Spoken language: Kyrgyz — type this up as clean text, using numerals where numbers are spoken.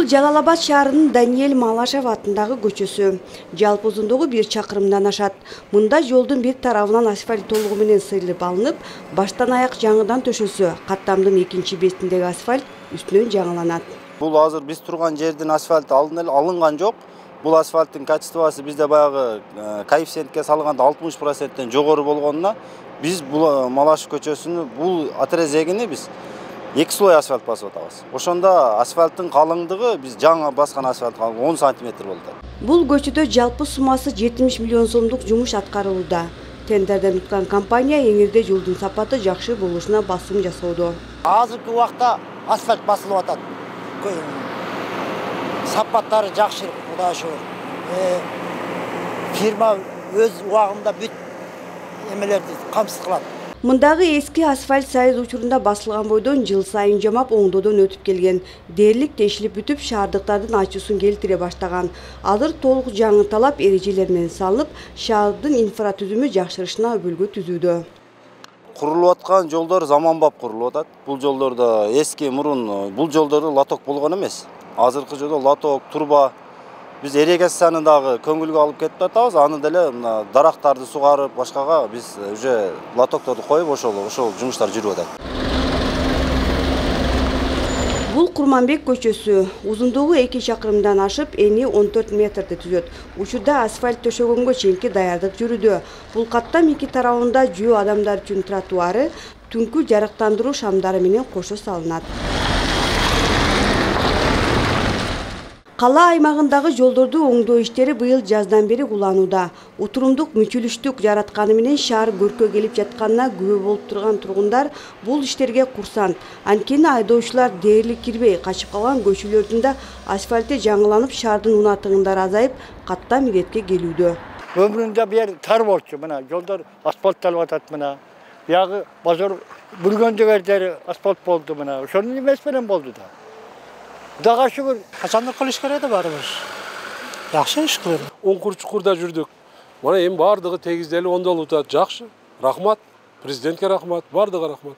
Жалал Абад шаарынын Даниэль Малашев атындагы көчөсү. Жалпы узундугу 1 чакырымдан ашат. Мында жолдун бир тарабынан асфальт толугу менен сыйрылып алынып, баштан аяк жаңыдан төшөсү, каттамдын экинчи бетиндеги асфальт үстүнөн жаңыланат. Бул азыр биз турган жердин асфальты алынган жок. Бул асфальттын качествосы бизде баягы коэффициентке салганда 60%тен жогору болгонуна биз бул Малашев көчөсүнүн бул отрезегини биз 2 слой асфальт басып атабыз. Ошондо асфальттын калыңдыгы биз жаңы баскан асфальт 10 сантиметр болду. Бул көчөдө жалпы суммасы 70 миллион сомдук жумуш аткарылууда. Тендерден уткан компания эңирде жолдун сапаты жакшы болушуна басым жасоодо. Азыркы убакта асфальт басылып атат. Сапаттары жакшы, Кудайга шүгүр. Фирма өз убагында бүт эмелерди камсыз кылат. Мындагы эски асфальт сайыз учурунда басылган бойдон жыл сайын жамап оңдоодон өтүп келген. Дээрлик тешилип бүтүп, шаардыктардын ачуусун келтире баштаган. Азыр толук жаңы талап эрежелер менен салынып, шаардын инфратүзүмү жакшырышына өбөлгө түзүүдө. Курулуп аткан жолдор заманбап курулуп атат. Бул жолдордо эски мурун бул жолдордо лоток болгон эмес. Азыркы жолдо лоток, турба. Биз ирригацияны дагы көңүлгө алып кетип атабыз. Аны деле мына дарактарды сугарып, башкага биз уже лотокторду коюп, ошол жумуштар жүрүп атат. Бул Курманбек көчөсү. Узундугу 2 чакырымдан ашып, эни 14 метрди түзөт. Учурда асфальт төшөгөнгө чейинки даярдык жүрүүдө. Бул каттам 2 тарабында жөө адамдар үчүн тротуары, түнкү жарыктандыруу шамдары менен кошо салынат. Кала аймагындагы жолдорду оңдоо иштери быйыл жаздан бери уланууда. Утурумдук мүчүлүштүк жаратканы менен шаар көркө келип жатканына күбө болуп турган тургундар бул иштерге курсант. Анткени айдоочулар дээрлик кирбей качып калган көчөлөрдүн да асфальти жаңыланып, шаардын унатыгындары азайып, каттам иретке келүүдө. Өмүрүндө бир тар болчу, мына жолдор асфальтталып атат мына. Биягы базар бүргөндө жердери асфальт болду мына. Ошонун эмес менен болду да. Кудайга шүгүр. Качандыр кылыш керек да баарыбыз. Жакшы иш кылып. Оңкур чукурда жүрдүк. Мына эми баардыгы тегизделип оңдолуп атат. Жакшы. Рахмат. Президентке рахмат. Баардыгы рахмат.